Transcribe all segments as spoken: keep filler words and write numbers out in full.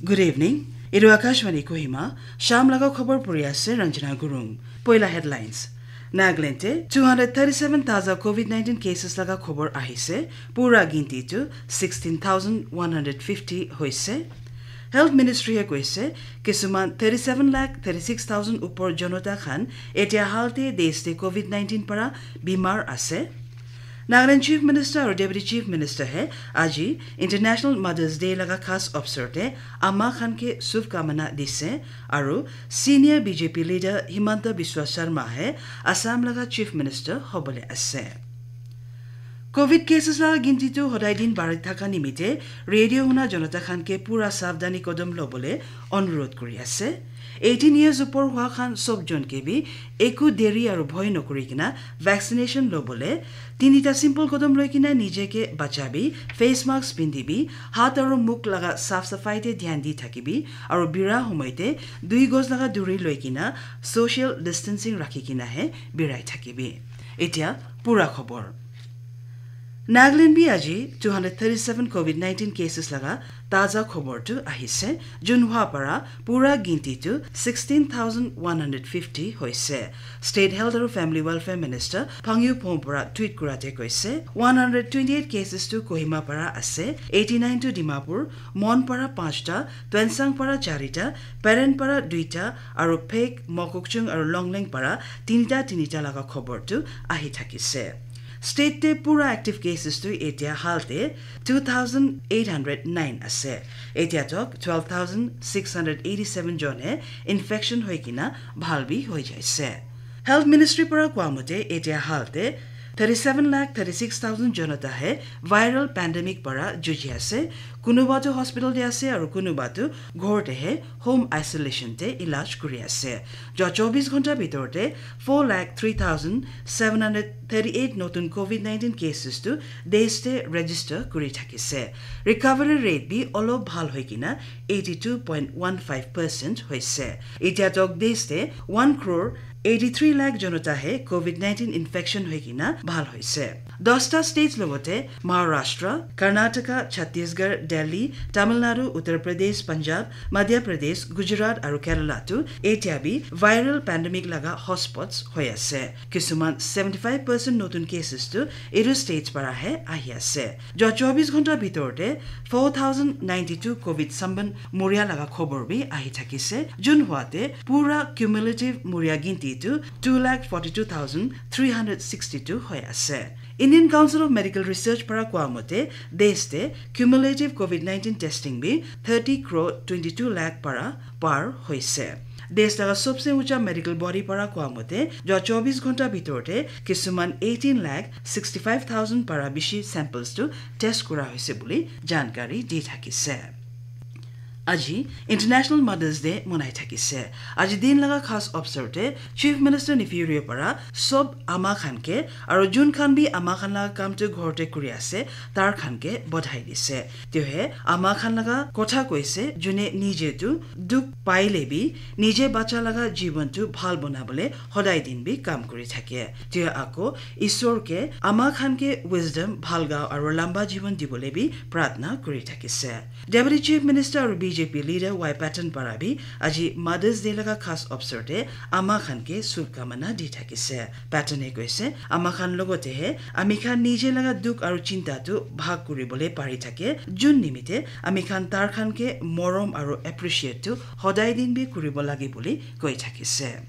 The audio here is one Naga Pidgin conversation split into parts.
Good evening. Etu Akashvani Kohima, Sham laga khobor puri ase Ranjana Gurung. Poila headlines. Nagaland te two hundred thirty-seven taza covid nineteen cases laga khobor ahise, pura ginti tu sixteen thousand one hundred fifty hoise. Health Ministry he koise, kisuman thirty-seven lakh thirty-six thousand upor jonota khan etia hal te desh te covid nineteen para bimar ase. Nagaland Chief Minister aru Deputy Chief Minister he aji International Mother's Day laga khas opsor te ama khan ke shubhkamana dise, aru senior B J P leader Himanta Biswa Sarma he Assam laga Chief Minister hobole ase. Covid cases laga ginti tu hodai din bari thaka nimite radio huna jonota khan ke pura savdani kodom lobole onurodh kuri ase. Eighteen years upor hua khan sob jon ke bi eku deri aru bhoi nokuri kena vaccination lobole tinita simple kodom loi kena nije ke bachabi, face mask pindibi, hat aru mukh laga saf safai te dhyan di thakibi, aru bira homoi te dui goj laga duri loi kena social distancing rakhi kena he birai thakibi. Etia pura khobor. Nagaland bi aji two hundred thirty-seven covid nineteen cases laga taza khobor tu ahise, jun hua para pura ginti tu sixteen thousand one hundred fifty hoise. State Health aru Family Welfare Minister Phangyu Phom para tweet kura te koise, one hundred twenty-eight cases tu Kohima para ase, eighty-nine tu Dimapur, Mon para panchta, Tuensang para charita, Peren para duita, aru Phek, Mokokchung aru Longleng para tinita tinita laga khobor tu ahi thakise. State te pura active cases tu etia hal te two thousand eight hundred nine ase. Etia tok twelve thousand six hundred eighty-seven jon he infection hoi kena bhal bi hoi jaise. Health Ministry para koa mote etia hal te thirty-seven lakh thirty-six thousand jonota he viral pandemic para juji ase. Kunuba tu hospital te ase aru kunuba tu ghor te he home isolation te ilaj kuri ase. Jua chobis ghonta bitor te four lakh three thousand seven hundred thirty-eight notun covid nineteen cases tu desh te register kuri thakise. Recovery rate bi olop bhal hoi kena eighty-two point one five percent hoise. Etia tok desh te one crore eighty-three lakh jonota he covid nineteen infection hoi kena bhal hoise. Dosta states logote Maharashtra, Karnataka, Chhattisgarh, Delhi, Tamil Nadu, Uttar Pradesh, Punjab, Madhya Pradesh, Gujarat aru Kerala tu etia bi viral pandemic laga hotspots hoi ase. Kisuman seventy-five percent notun cases tu etu states para he ahi ase. Jua chobis ghonta bitor te four thousand ninety-two covid samban muria laga khobor bi ahi thakise. Jun hua te pura cumulative muria ginti tu two lakh forty-two thousand three hundred sixty-two hoi ase. Indian Council of Medical Research para koa mote desh te cumulative covid nineteen testing bi thirty crore twenty-two lakh para par hoise. Desh laga sobse ucha medical body para koa mote jua chobis ghonta bitor te kisuman eighteen lakh sixty-five thousand para bishi samples tu test kura hoise buli jankari di thakise. Aji International Mother's Day monai thakise. Aji din laga khas opsor te Chief Minister Neiphiu Rio para sob ama khan ke aru jun khan bi ama khan laga kam tu ghor te kuri ase, tar khan ke bodhai dise. Tio he ama khan laga kotha koise, june nije tu dukh paile bi nije bacha laga jiban tu bhal bonabole hodai din bi kam kuri thake. Tio ako Isor ke ama khan ke wisdom, bhal gao aru lamba jiban dibole bi pratna kuri thakise. Deputy Chief Minister aru B J P leader Y Patton para bi aji Mother's Day laga khas opsor te ama khan ke shubhkamana di thakise. Patton e koise, ama khan logote he ami khan nije laga dukh aru chinta tu bhag kuribole pari thake, jun nimite ami khan tar khan ke morom aru appreciate tu hodai din bi kuribo lage buli koi thakise.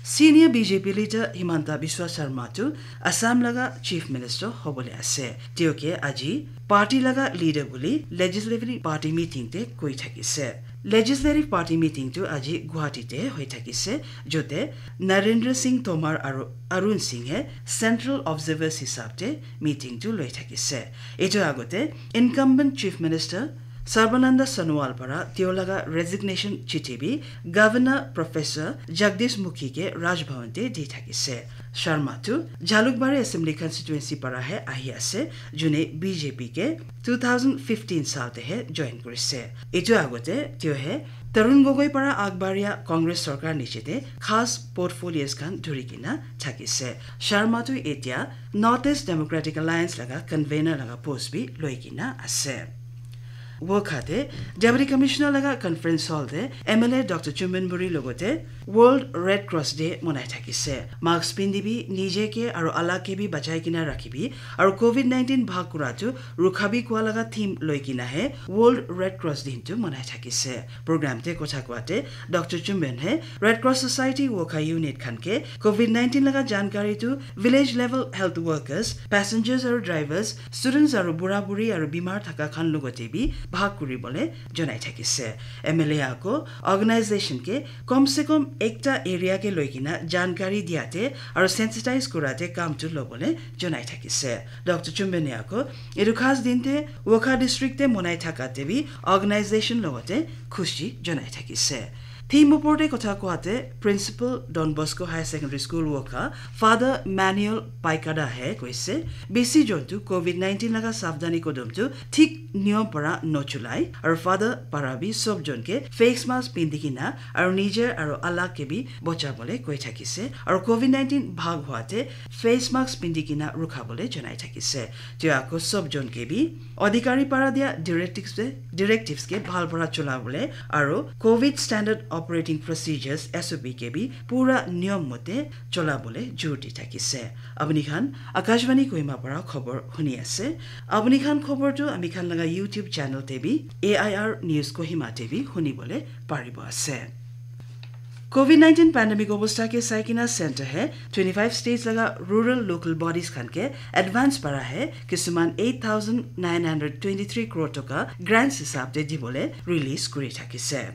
Senior B J P leader Himanta Biswa Sarma tu Assam laga Chief Minister hobole ase. Tio ke aji party laga leader buli Legislative Party meeting te koi thakise. Legislative Party meeting tu aji Guwahati te hoi thakise, jote Narendra Singh Tomar aru Arun Singh he Central Observers hisab te meeting tu loi thakise. Etu agote incumbent Chief Minister Sarbananda Sonowal para tio laga resignation chithi bi Governor Professor Jagdish Mukhi ke Raj Bhavan te di thakise. Sharma tu Jalukbari Assembly Constituency para he ahi ase, june B J P ke two thousand fifteen sal te he join kurise. Etu agote tio he Tarun Gogoi para agbaria Congress sorkar niche te khas portfolios khan dhuri kena thakise. Sharma tu etia North East Democratic Alliance laga convener laga post bi loi kena ase. Wokha te Deputy Commissioner laga conference hall te M L A Doctor Chumben Buri logote World Red Cross Day monai thakise. Mask pindibi, nije ke aro alag ke bi bachai kena rakhibi, aro covid nineteen bhag kura tu rukhabi kua laga theme loi kena he World Red Cross din tu monai thakise. Program te kotha kua te Doctor Chumben he Red Cross Society Wokha unit khan ke covid nineteen laga jankari tu village level health workers, passengers aro drivers, students aro bura buri aro bimar thaka khan logote bi bhag kuri bole jonai thakise. M L A ako organization ke kom se kom ekta area ke loi kena jankari diate aro sensitize kurate kam tu lobole jonai thakise. Doctor Chumbene ako etu khas din te Wokha district te monai thakate bi organization logote khushi jonai thakise. Theme opor te kotha koate Principal Don Bosco Higher Secondary School Wokha Father Manuel Paikada he koise, besi jon tu covid nineteen laga savdhani kodom tu thik niyom para nochulai, aru Father para bi sob jon ke face mask pindi kena aru nijer aru alag ke bi bocha bole koi thakise, aru covid nineteen bhag hua te face mask pindi kena rukha bole jonai thakise. Tio ako sob jon ke bi adhikari para dia directives te, directives ke bhal para chola bole aru covid standard operating procedures, S O P, ke bi pura niyom mote chola bole jor di thakise. Apuni khan Akashvani Kohima para khobor huni ase. Apuni khan khobor tu ami khan laga YouTube channel te bi, A I R News Kohima te bi huni bole paribo ase. Covid nineteen pandemic obostha ke saikena center he twenty-five states laga rural local bodies khan ke advance para he kisuman eight thousand nine hundred twenty-three crore toka grants hisab te dibole release kuri thakise.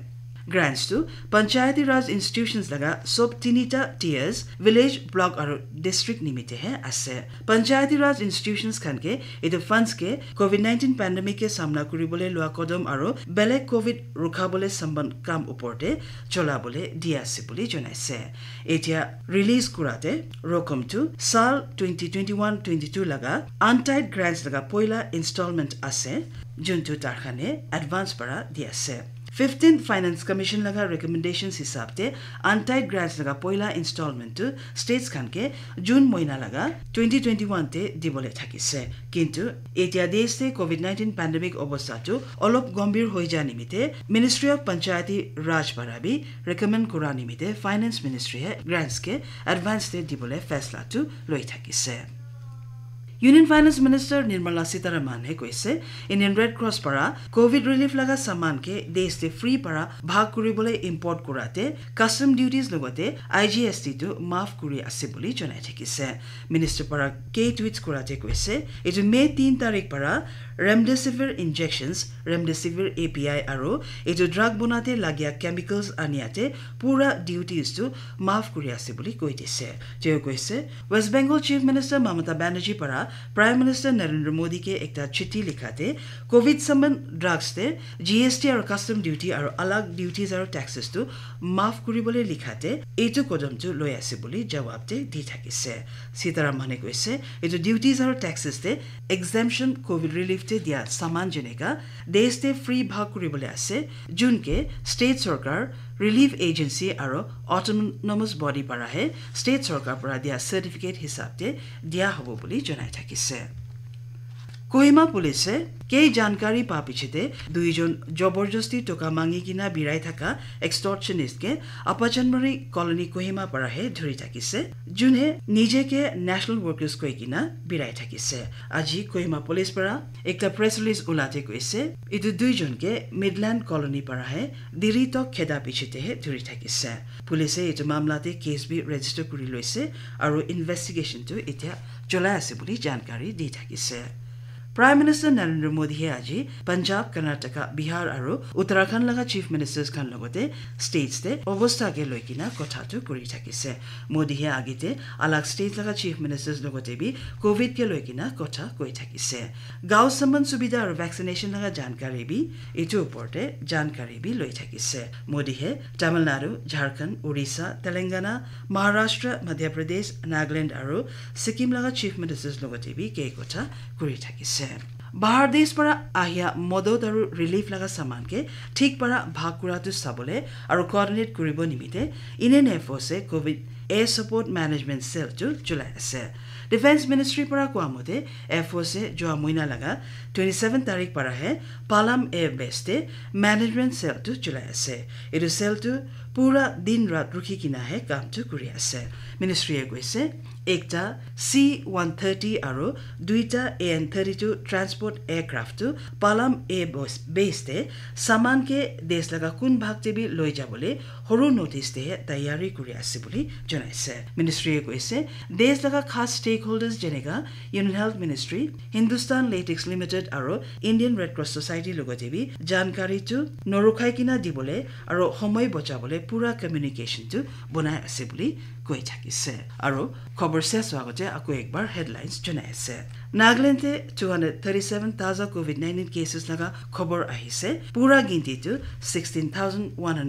Grants tu Panchayati Raj institutions laga sob tinita tiers, village, block aru district nimite he ase. Panchayati Raj institutions khan ke etu funds ke covid nineteen pandemic ke samna kuribole lua kodom aru belek covid rukhabole samban kam upor te chola bole di ase buli jonaise. Etia release kurate rokom tu sal twenty twenty-one twenty-two laga untied grants laga poila installment ase, juntu tarkhane advance para di ase. Fifteen Finance Commission laga recommendations hisab te untied grants laga poila installment tu states khan ke June moina laga twenty twenty-one te dibole thakise. Kintu etia desh te covid nineteen pandemic obostha tu olop gombhir hoi ja nimite Ministry of Panchayati Raj para bi recommend kura nimite Finance Ministry he grants ke advance te dibole faisla tu loi thakise. Union Finance Minister Nirmala Sitharaman he koise, Indian Red Cross para covid relief laga saman ke desh te free para bhag kuribole import kurate custom duties logote I G S T tu maaf kuri ase buli jonai thakise. Minister para ke tweets kurate koise, etu May tin tarik para remdesivir injections, remdesivir A P I aru etu drug bonate lagia chemicals aniate pura duties tu maaf kuri ase buli koi dise. Teo koise, West Bengal Chief Minister Mamata Banerjee para Prime Minister Narendra Modi ke ekta chithi likhate covid saman drugs te G S T aru custom duty aru alag duties aru taxes tu maaf kuribole likhate etu kodom tu loi ase buli jawab te di thakise. Sitharamane koise, etu duties aru taxes te exemption covid relief te dia saman jeneka desh te free bhag kuribole ase, jun ke state sorkar, relief agency aru autonomous body para he state sorkar para dia certificate hisab te dia hobo buli jonai thakise. Kohima police e ke jankari pa pichete duijon joborjosti toka mangi kena birai thaka extortionist ke Apachanmari Colony Kohima para he dhuri thakise, jun he nije ke national workers koi kena birai thakise. Aji Kohima police para ekta press release ulate koise, etu duijon ke Midland Colony para he diri tok kheda pichete he dhuri thakise. Police e etu mamla te case bi register kuri loise aru investigation tu etia cholai ase buli jankari di thakise. Prime Minister Narendra Modi he aji Punjab, Karnataka, Bihar aru Uttarakhand laga Chief Ministers khan logote states te obostha ke loi kena kotha tu kuri thakise. Modi he agite alag states laga Chief Ministers logote bi covid ke loi kena kotha koi thakise. Gao saman subidha aru vaccination laga jankari bi etu upor te jankari bi loi thakise. Modi he Tamil Nadu, Jharkhand, Orissa, Telangana, Maharashtra, Madhya Pradesh, Nagaland aru Sikkim laga Chief Ministers logote bi ke kotha kuri thakise. Bahar desh para ahia modot aru relief laga saman ke thik para bhag kura tu sabole aru coordinate kuribo nimite Indian Air Force e covid Air Support Management Cell tu cholai ase. Defence Ministry para kowa mote, Air Force e jua moina laga twenty seven tarik para he Palam Air Base te management cell tu chulai ase. Etu cell tu pura din rat rukhi kina he kam tu kuri ase. Ministry e koise, ekta C one thirty aru duita A N thirty two transport aircraft tu Palam Air Base te saman ke desh laga kun bhag te bi loi jabole horu notice te he tayari kuri ase buli janaise. Ministry e koise, desh laga khas stakeholders jeneka Union Health Ministry, Hindustan Latex Limited aru Indian Red Cross Society logote bi jankari tu norukhai kina dibole aru homoi bochabole pura communication tu bonai ase buli koi thakise. Aru khobor ses hwa agote ako ekbar headlines junai ase. Nagaland te two hundred thirty seven taza covid nineteen cases laga khobor ahise. Pura ginti tu sixteen thousand one hundred